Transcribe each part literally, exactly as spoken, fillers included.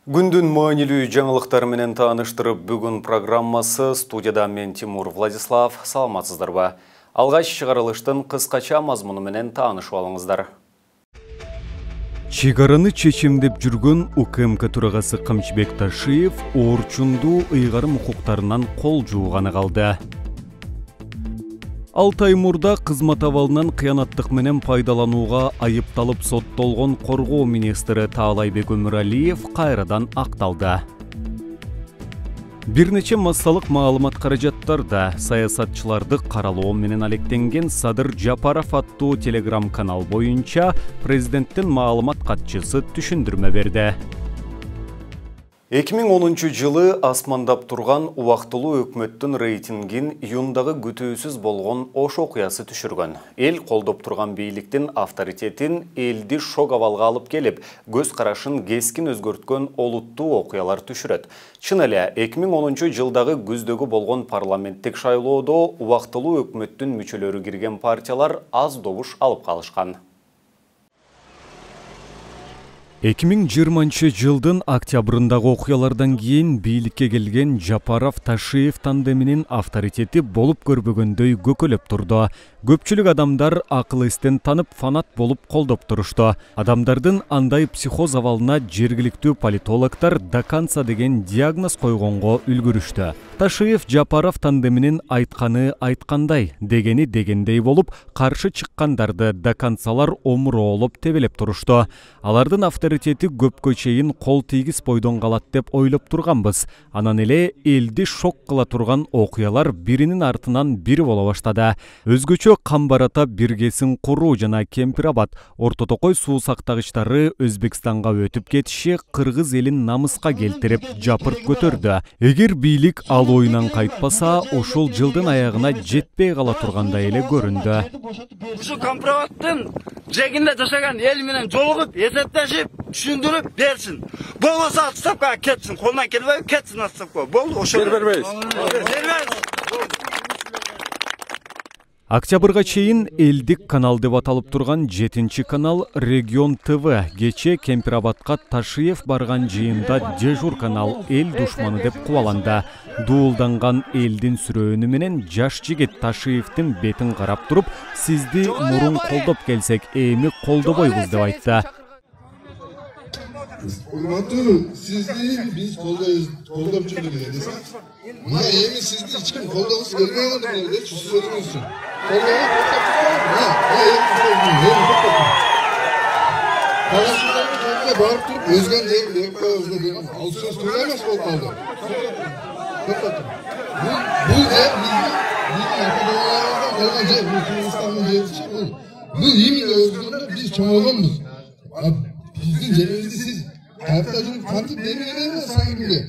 Күндүн маанилүү жаңылыктары менен тааныштырып, бүгүн программасы студияда мен Тимур Владислав. Саламатсыздарбы? Алгач чыгарылыштын кыскача мазмуну менен таанышып алыңыздар. Чегараны чечимдеп жүргөн УКМК төрагасы Камчыбек Ташиев Орчунду ыйгарым укуктарынан кол жууганы калды. Алты ай мурда кызмат абалынан кыянаттык менен пайдаланууга айыпталып соттолгон коргоо министри Таалайбек Өмүралиев кайрадан акталды. Бир нече массалык маалымат каражаттарда саясатчыларды каралоо менен алектенген Садыр Жапаров аттуу телеграм-канал боюнча президенттин маалымат катчысы түшүндүрмө берди. эки миң онунчу жылы асмандап турган убактылуу өкмөттүн рейтингин июндагы күтүүсүз болгон Ош окуясы түшүргөн. Эл колдоп турган бийликтин авторитетин элди шок абалга алып келип, көз карашын кескин өзгөрткөн олуттуу окуялар түшүрөт. Чын эле эки миң онунчу жылдагы күздөгү болгон парламенттик шайлоодо убактылуу өкмөттүн мүчөлөрү кирген партиялар аз добуш алып калышкан. эки миң жыйырманчы жылдын октябрындагы окуялардан кийин бийликке келген Жапаров Ташиев тандеминин авторитети болуп көрбөгөндөй көкөлөп турду. Көпчүлүк адамдар акыл эстен танып фанат болуп колдоп турушту. Адамдардын андай психоз абалына жергиликтүү политологдор доканца деген диагноз койгонго үлгүрүштү. Ташиев Жапаров тандеминин айтканы айткандай, дегени дегендей болуп, каршы чыккандарды доканцалар омуроолоп тебелеп турушту. Алардын авторитети көпкө чейин кол тийгиз бойдон калат деп ойлоп турганбыз. Анан эле элди шок кыла турган окуялар биринин артынан бири боло баштады. Өзгөчө Камбарата биргесин куруу жана Кемпирабад Орто Токой суу сактагычтары Өзбекстанга өтүп кетиши кыргыз элин намыска келтирип жапырт көтөрдү. Эгер бийлик ал оюнан кайтпаса, ушул жылдын аягына жетпей кала тургандай эле көрүндү. Ушу Кампирабадтын жегинде жашаган эл менен жолугуп, эсептешип, түшүндүрүп берсин. Болбосо отставкага кетсин, колунан келбей кетсин отставкага. Болду, ошо бербейбиз. Бербейбиз. Октябрга чейин элдик канал деп аталып турган жетинчи канал Регион ТВ кече Кемпирабадка Ташиев барган жыйында дежур канал эл душманы деп кубаланды. Дуулданган элдин сүрөөнү менен жаш жигит Ташиевдин бетин карап туруп, сизди мурун колдоп келсек, эми колдобойбуз деп айтты. Урматтуу, сизди биз колдоп жүрдүк эле. Мына эми сизди эч ким колдогусу келбей калды деп сөзүңүз үчүн. Колдогуп токтоп, мына эми токтоп. Барып туруп өзгөн жерди деп коебуз деген ал сөз туура эмес болуп калды. Токтоп. Бул жер биздин ата-бабаларыбыздан калган жер, бул Кыргызстандын жери. Бул именно өзгөндө биз чоңойгонбуз. Биздин жерибизди сиз кайта жүрүп кантип бербейсиз саңгимге?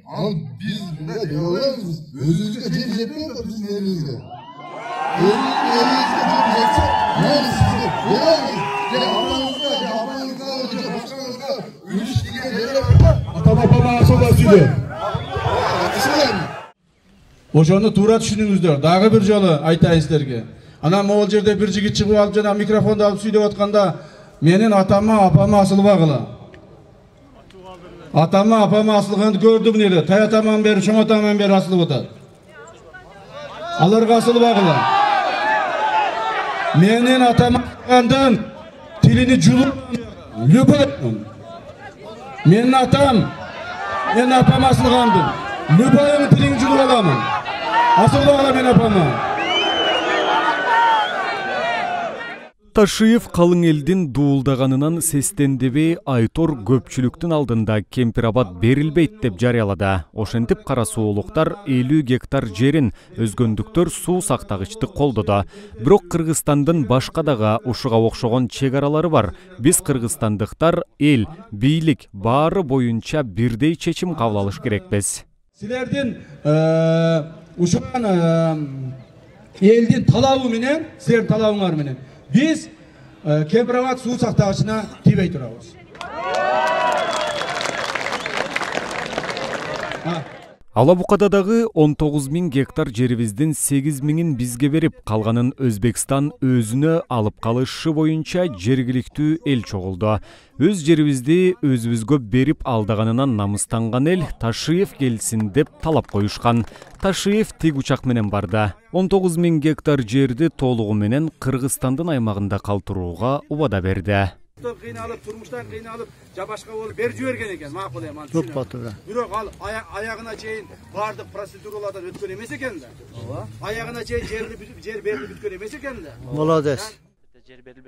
Ал биз мындай деп ойлойбуз. Өзүбүзгө жер жетпей атат биздин элибизге. Элибизге жер жетсе, мына сизге беребиз. Же атаңызга, же апаңызга, же башкаңызга үлүш деген жерлер ата-бабама асылда сүйлө. Ошону туура түшүнүңүздөр. Дагы бир жолу айтайын силерге. Анан могул жерде бир жигит чыгып алып жана микрофонду алып сүйлөп атканда менин атама, апама асылбагыла. Атама, апама асылганды көрдүм эле. Таятаман бери, чоңотаман бери асылып атат. Аларга асылбагыла. Менин атама асылгандын тилини жулуп любой. Менин атам, менин апам асылгандын любой тилин жулуп аламын. Асылбагыла менин апама. Ташиев калың элдин дуулдаганынан сестендебей Айтор көпчүлүктүн алдында Кемпирабад берилбейт деп жарыялады. Ошентип кара суулуктар элүү гектар жерин, өзгөндүктөр суу сактагычты колдоду. Бирок Кыргызстандын башка дагы ушуга окшогон чегаралары бар. Биз кыргызстандыктар эл, бийлик баары боюнча бирдей чечим кабыл алыш керекпиз. Силердин ушуган элдин талабы менен, силердин талабыңар менен биз Кемпирабад суу сактагычына тийбей турабыз. Алабукада дагы он тогуз миң гектар жерибиздин сегиз миңин бизге берип, калганын Өзбекстан өзүнө алып калышы боюнча жергиликтүү эл чогулду. Өз жерибизди өзүбүзгө берип алдаганынан намыстанган эл Ташиев келсин деп талап коюшкан. Ташиев тиг учак менен барды. он тогуз миң гектар жерди толугу менен Кыргызстандын аймагында калтырууга убада берди. Кыйналып, турмуштан кыйналып, жабашка болуп бер жиберген экен, макул эми аны. Көп батыр. Бирок ал аягына чейин бардык процедуралардан өткөн эмес экен да. Ооба. Аягына чейин жерди жер берилип бүткөн эмес экен да. Молодец.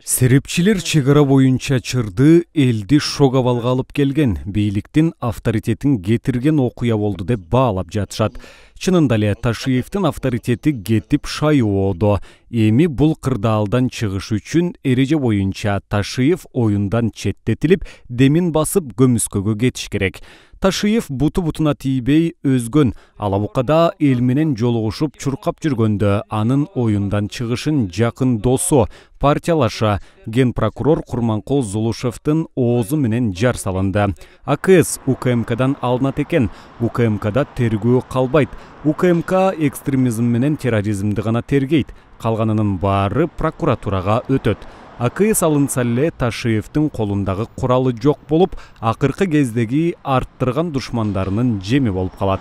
Серепчилер чек ара боюнча чырды элди шок абалга алып келген, бийликтин авторитетин кетирген окуя болду деп баалап жатышат. Чынында эле Ташиевдин авторитети кетип шайоодо. Эми бул кырдаалдан чыгыш үчүн эреже боюнча Ташиев оюндан четтетилип, демин басып көмүскөгө кетиш керек. Ташиев буту бутуна тийбей өзгөн, Алабукада эл менен жолугушуп чуркап жүргөндө анын оюндан чыгышын жакын досу, партиялаша ген прокурор Курманкул Зулушевдин оозу менен жар салынды. А К С У К М Кдан алынат экен. У К М Кда тергөө калбайт. У К М К экстремизм менен терроризмди гана тергейт. Калганынын баары прокуратурага өтөт. А К С алынса эле Ташиевдин колундагы куралы жок болуп, акыркы кездеги арттырган душмандарынын жеми болуп калат.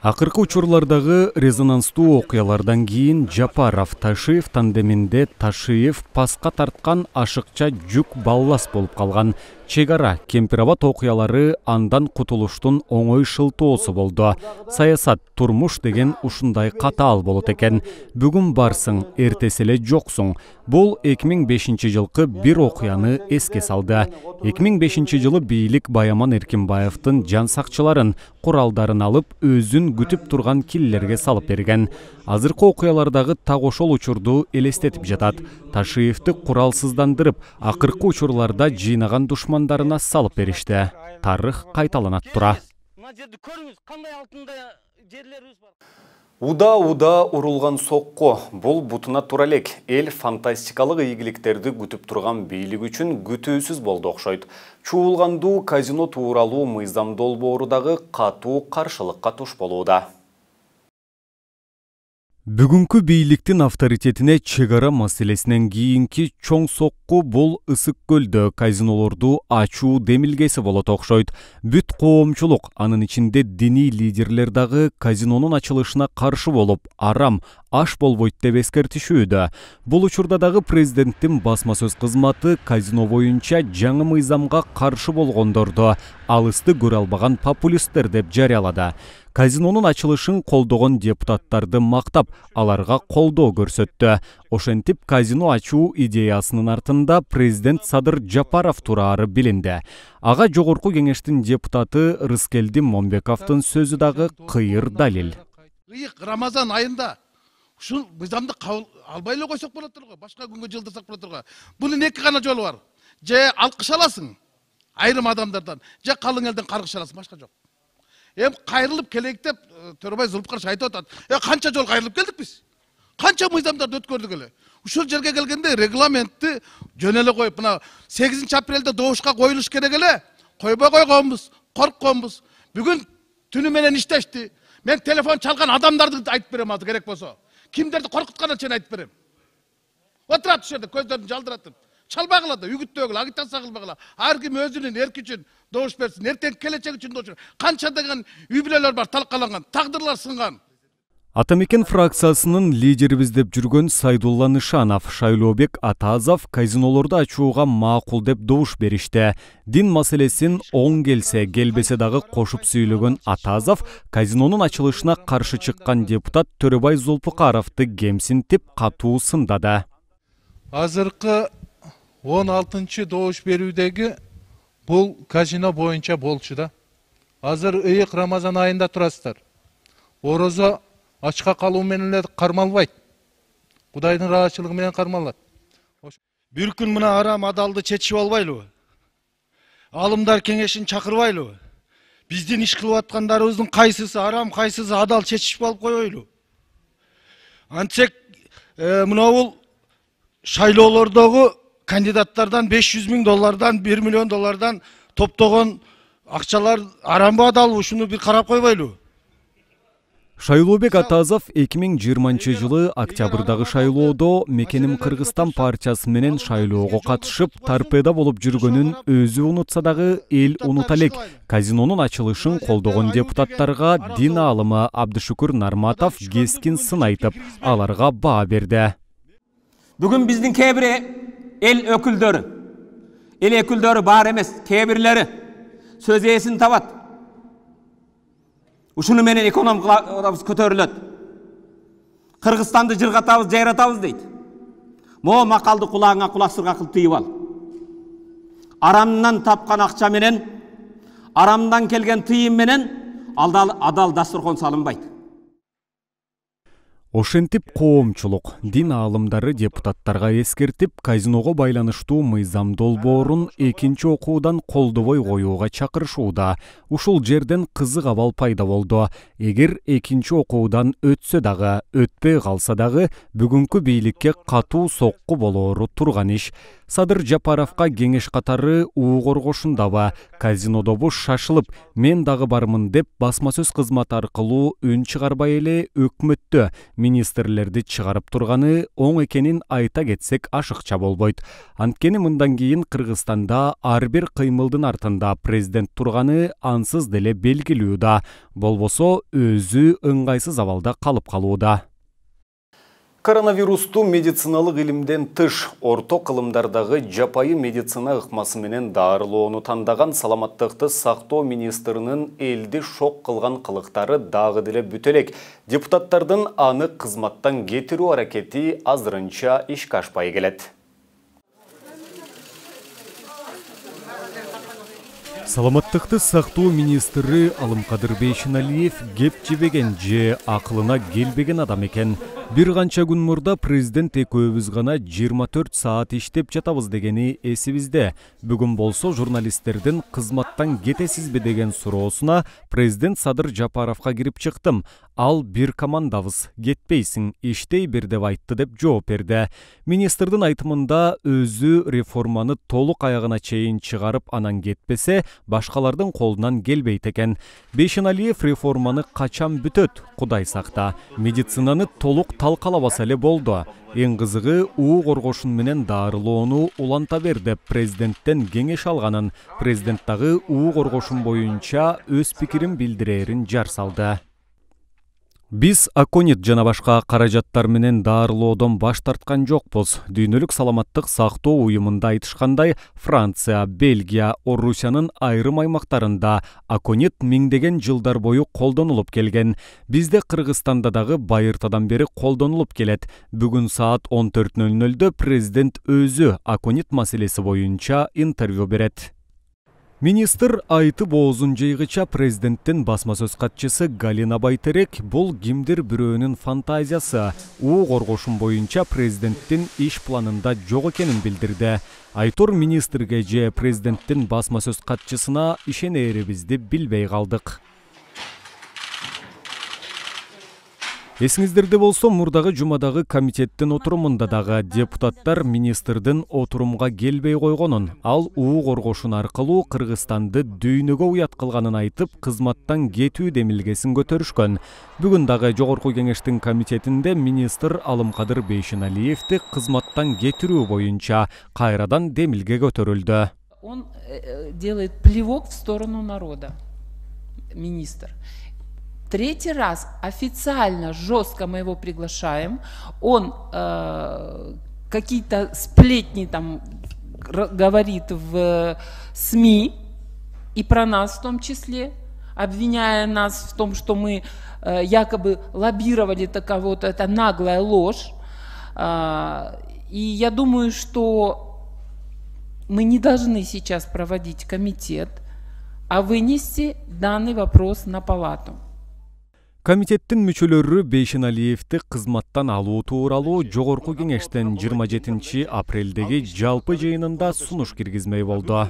Акыркы учурлардагы резонанстуу окуялардан кийин Жапаров Ташиев тандеминде Ташиев паска тарткан ашыкча жүк баллас болуп калган. Чек ара Кемпирабад окуялары андан кутулуштун оңой шылтоосу болду. Саясат, турмуш деген ушундай катаал болот экен. Бүгүн барсың, эртеси эле жоксуң. Бул эки миң бешинчи жылкы бир окуяны эске салды. эки миң бешинчи жылы бийлик Баяман Эркинбаевдин жан сакчыларын, куралдарын алып, өзүн күтүп турган киллерге салып берген. Азыркы окуялардагы так ошол учурду элестетип жатат. Ташиевди куралсыздандырып, акыркы учурларда жыйнаган душмандарына салып беришти. Тарых кайталанат тура. Уда-уда урулган сокко, бул бутуна тура элек. Эл фантастикалык ийгиликтерди күтүп турган бийлик үчүн күтүүсүз болду окшойт. Чуулгандуу казино тууралуу мыйзам долбоору дагы катуу каршылыкка туш болууда. Бүгүнкү бийликтин авторитетине чек ара маселесинен кийинки чоң сокку бул Ысык көлдө казинолорду ачуу демилгеси болот окшойт. Бүт коомчулук, анын ичинде диний лидерлер дагы казинонун ачылышына каршы болуп, арам, аш болбойт деп эскертишүүдө. Бул учурда дагы президенттин басма сөз кызматы казино боюнча жаңы мыйзамга каршы болгондорду алысты көрө албаган популисттер деп жарыялады. Казинонун ачылышын колдогон депутаттарды мактап, аларга колдоо көрсөттү. Ошентип казино ачуу идеясынын артында президент Садыр Жапаров турары билинди. Ага жогорку кеңештин депутаты Рыскелди Момбековдун сөзү дагы кыйыр далил. Ыйык Рамазан айында ушул мыйзамды кабыл албай эле койсок болот го, башка күнгө жылдырсак болот го. Бунун эки гана жолу бар. Же алкыш аласың айрым адамдардан, же калың элден каргыш аласың, башка жок. Эм кайрылып келейик деп Төрөбай Зулпукарович айтып атат. Э канча жол кайрылып келдик биз? Канча мыйзамдарды өткөрдүк эле? Ушул жерге келгенде регламентти жөн эле коюп, мына сегизинчи апрелде добушка коюлуш керек эле. Койбой койгонбуз, коркконбуз. Бүгүн түнү менен иштешти. Мен телефон чалган адамдарды айтып берем азыр керек болсо. Кимдерди коркутканын чейин айтып берем. Отурат ушул жерде көздөрүн жалдыратып. Чалбагыла да, үгүттөгүлө, агитация кылбагыла. Ар ким өзүнүн эрки үчүн добуш берсин. Эртең келечек үчүн добуш. Канча деген үй бүлөлөр бар талкаланган, тагдырлар сынган. Атамекен фракциясынын лидерибиз деп жүргөн Сайдулла Нышанов, Шайлообек Атазов казинолорду ачууга макул деп добуш беришти. Дин маселесин оң келсе, келбесе дагы кошуп сүйлөгөн Атазов казинонун ачылышына каршы чыккан депутат Төрөбай Зулпукаровду кемсинтип катуу сындады. Азыркы он алтынчы добуш берүүдөгү бул казино боюнча болчу да. Азыр ыйык Рамазан айында турасыздар. Орозо ачка калуу менен эле кармалбайт. Кудайдын ыраазычылыгы менен кармалат. Бир күн мына арам адалды чечип албайлыбы? Алымдар кеңешин чакырбайлыбы? Биздин иш кылып аткандарыбыздын кайсысы арам, кайсысы адал чечишип алып койойлу. Антсек мына бул шайлоолордогу кандидаттардан беш жүз миң доллардан, бир миллион доллардан топтогон акчалар арамбы адалбы ушуну бир карап койбойлу. Шайлообек Атазов эки миң жыйырманчы жылы октябрдагы шайлоодо Мекеним Кыргызстан партиясы менен шайлоого катышып, торпеда болуп жүргөнүн өзү унутса дагы эл унута элек. Казинонун ачылышын колдогон депутаттарга дин аалымы Абдышүкүр Нарматов кескин сын айтып, аларга баа берди. Бүгүн биздин кээ бир эл өкүлдөрү, эл өкүлдөрү бар эмес, кээ бирлери сөз ээсин табат. Ушуну менен экономикабыз көтөрүлөт. Кыргызстанды жыргатабыз, жайратабыз дейт. Мо макалды кулагыңа кулак сырга кылып тыйып ал. Арамдан тапкан акча менен, арамдан келген тыйым менен адал дасторкон салынбайт. Ошентип коомчулук, дин аалымдары депутаттарга эскертип, казиного байланыштуу мыйзам долбоорун экинчи окуудан колдобой коюуга чакырышууда. Ушул жерден кызык абал пайда болду. Эгер экинчи окуудан өтсө дагы, өтпөй калса дагы, бүгүнкү бийликке катуу сокку болоору турган иш. Садыр Жапаровка кеңеш катары уу коргошундабы, казинодобу шашылып, мен дагы бармын деп басма сөз кызматы аркылуу үн чыгарбай эле өкмөттө министрлерди чыгарып турганы оң экенин айта кетсек ашыкча болбойт. Анткени мындан кийин Кыргызстанда ар бир кыймылдын артында президент турганы ансыз деле белгилүү да, болбосо өзү ыңгайсыз абалда калып калууда. Коронавирусту медициналык илимден тыш орто кылымдардагы жапайы медицина ыкмасы менен дарылоону тандаган саламаттыкты сактоо министринин элди шок кылган кылыктары дагы деле бүтө элек. Депутаттардын аны кызматтан кетирүү аракети азырынча ишке ашпай келет. Саламаттыкты сактоо министри Алымкадыр Бейшеналиев кеп жебеген же акылына келбеген адам экен. Бир канча күн мурда президент экөөбүз гана жыйырма төрт саат иштеп жатабыз дегени эсибизде. Бүгүн болсо журналисттердин кызматтан кетесизби деген суроосуна президент Садыр Жапаровго кирип чыктым. Ал бир командабыз, кетпейсиң, иштей бер деп айтты деп жооп берди. Министрдин айтымында өзү реформаны толук аягына чейин чыгарып анан кетпесе, башкалардын колунан келбейт экен. Бейшеналиев реформаны качан бүтөт, Кудай сакта. Медицинаны толук талкалабаса эле болду. Эң кызыгы уу коргошун менен дарылоону уланта бер деп президенттен кеңеш алганын, президент дагы уу коргошун боюнча өз пикирин билдирерин жар салды. Биз аконит жана башка каражаттар менен дарылоодон баш тарткан жокпуз. Дүйнөлүк саламаттык сактоо уюмунда айтышкандай, Франция, Бельгия, Орусиянын айрым аймактарында аконит миңдеген жылдар бою колдонулуп келген. Бизде Кыргызстанда дагы байыртадан бери колдонулуп келет. Бүгүн саат он төрт нөл нөлдө президент өзү аконит маселеси боюнча интервью берет. Министр айтып оозун жыйгыча президенттин басма сөз катчысы Галина Байтерек бул кимдир бирөөнүн фантазиясы, уу коргошун боюнча президенттин иш планында жок экенин билдирди. Айтор министрге же президенттин басма сөз катчысына ишенерибизди билбей калдык. Эсиңиздерде болсо, мурдагы жумадагы комитеттин отурумунда дагы депутаттар министрдин отурумга келбей койгонун, ал уу коргошун аркылуу Кыргызстанды дүйнөгө уят кылганын айтып, кызматтан кетүү демилгесин көтөрүшкөн. Бүгүн дагы жогорку кеңештин комитетинде министр Алымкадыр Бейшеналиевди кызматтан кетирүү боюнча кайрадан демилге көтөрүлдү. Он делает плевок в сторону народа, министр. Третий раз официально, жестко мы его приглашаем. Он э, какие-то сплетни там говорит в СМИ, и про нас в том числе, обвиняя нас в том, что мы э, якобы лоббировали кого-то. Это наглая ложь. Э, и я думаю, что мы не должны сейчас проводить комитет, а вынести данный вопрос на палату. Комитеттин мүчөлөрү Бейшеналиевди кызматтан алуу тууралуу жогорку кеңештен жыйырма жетинчи апрелдеги жалпы жыйынында сунуш киргизмей болду.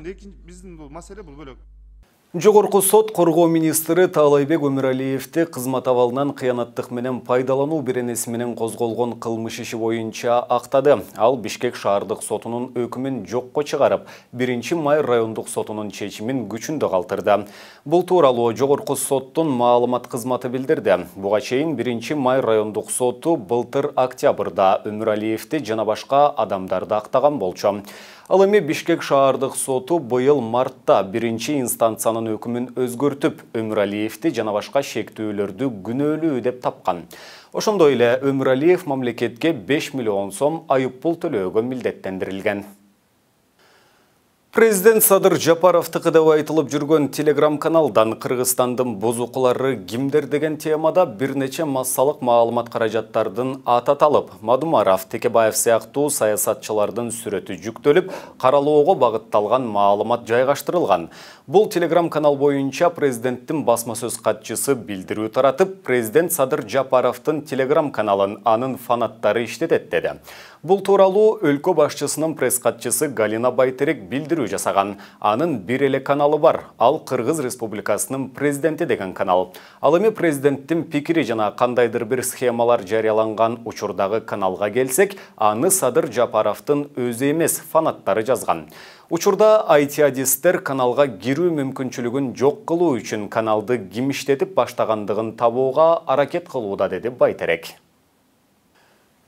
Жогорку сот коргоо министри Таалайбек Өмүралиевди кызмат абалынан кыянаттык менен пайдалануу беренеси менен козголгон кылмыш иши боюнча актады. Ал Бишкек шаардык сотунун өкүмүн жокко чыгарып, биринчи май райондук сотунун чечимин күчүндө калтырды. Бул тууралуу Жогорку соттун маалымат кызматы билдирди. Буга чейин биринчи май райондук соту былтыр октябрда Өмүралиевди жана башка адамдарды актаган болчу. Ал эми Бишкек шаардык соту быйыл мартта биринчи инстанциянын өкүмүн өзгөртүп, Өмүралиевди жана башка шектүүлөрдү күнөөлүү деп тапкан. Ошондой эле Өмүралиев мамлекетке беш миллион сом айыппул төлөөгө милдеттендирилген. Президент Садыр Жапаровтыкы деп айтылып жүргөн телеграм-каналдан Кыргызстандын бузукулары кимдер деген темада бир нече массалык маалымат каражаттардын аты аталып, Мадумаров, Текебаев сыяктуу саясатчылардын сүрөтү жүктөлүп, каралоого багытталган маалымат жайгаштырылган. Бул телеграм-канал боюнча президенттин басма сөз катчысы билдирүү таратып, президент Садыр Жапаровдун телеграм-каналын анын фанаттары иштетет деди. Бул тууралуу өлкө башчысынын пресс-катчысы Галина Байтерек билдирүү жасаган. Анын бир эле каналы бар. Ал Кыргыз Республикасынын президенти деген канал. Ал эми президенттин пикири жана кандайдыр бир схемалар жарыяланган учурдагы каналга келсек, аны Садыр Жапаровдун өзү эмес, фанаттары жазган. Учурда ай ти-адистер каналга кирүү мүмкүнчүлүгүн жок кылуу үчүн каналды ким иштетип баштагандыгын табууга аракет кылууда, деди Байтерек.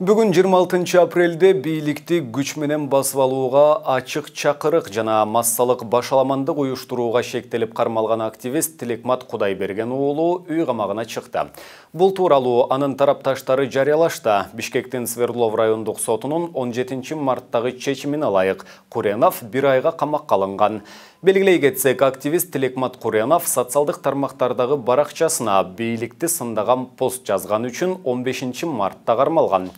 Бүгүн жыйырма алтынчы апрелде бийликти күч менен басып алууга, ачык чакырык жана массалык башаламандык уюштурууга шектелип кармалган активист Тилекмат Кудайберген уулу үй камагына чыкты. Бул тууралуу анын тарапташтары жарыялашты. Бишкектин Свердлов райондук сотунун он жетинчи марттагы чечимине ылайык Куренов бир айга камакка алынган. Белгилей кетсек, активист Тилекмат Куренов социалдык тармактардагы баракчасына бийликти сындаган пост жазган үчүн он бешинчи мартта кармалган.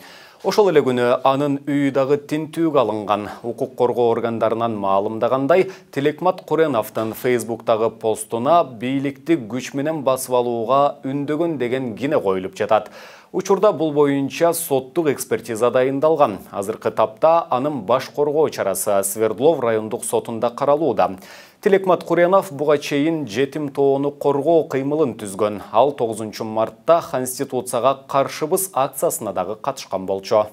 Ошол эле күнү анын үйү дагы тинтүүгө алынган. Укук коргоо органдарынан маалымдагандай, Тилекмат Куреновдун Фейсбуктагы постуна бийликти күч менен басып алууга үндөгөн деген кине коюлуп жатат. Учурда бул боюнча соттук экспертиза дайындалган. Азыркы тапта анын баш коргоо чарасы Свердлов райондук сотунда каралууда. Тилекмат Куренов буга чейин жетим тоону коргоо кыймылын түзгөн. Ал тогузунчу мартта Конституцияга каршыбыз акциясына дагы катышкан болчу.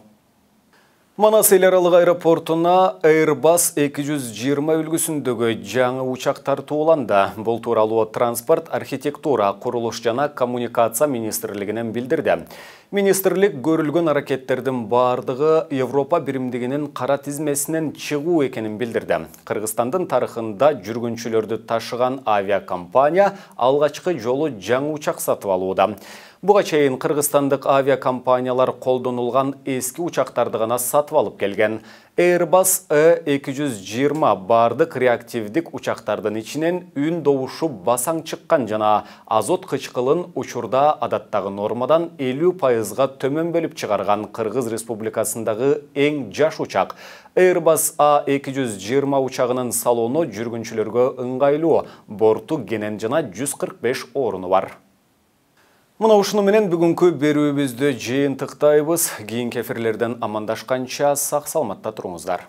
Манас эл аралык аэропортуна Airbus эки жүз жыйырма үлгүсүндөгү жаңы учак тартууланды. Бул тууралуу транспорт, архитектура, курулуш жана коммуникация министрлигинен билдирди. Министрлик көрүлгөн аракеттердин бардыгы Европа биримдигинин кара тизмесинен чыгуу экенин билдирди. Кыргызстандын тарыхында жүргүнчүлөрдү ташыган авиакомпания алгачкы жолу жаңы учак сатып алууда. Буга чейин кыргызстандык авиакомпаниялар колдонулган эски учактарды гана сатып алып келген. Airbus Э эки жүз жыйырма бардык реактивдик учактардын ичинен үн добушу басаң чыккан жана азот кычкылын учурда адаттагы нормадан элүү пайызга төмөн бөлүп чыгарган Кыргыз Республикасындагы эң жаш учак. Airbus А эки жүз жыйырма учагынын салону жүргүнчүлөргө ыңгайлуу, борту кенен жана жүз кырк беш оруну бар. Мына ушуну менен бүгүнкү берүүбүздү жыйынтыктайбыз. Кийинки эфирлерден амандашканча сак саламатта туруңуздар.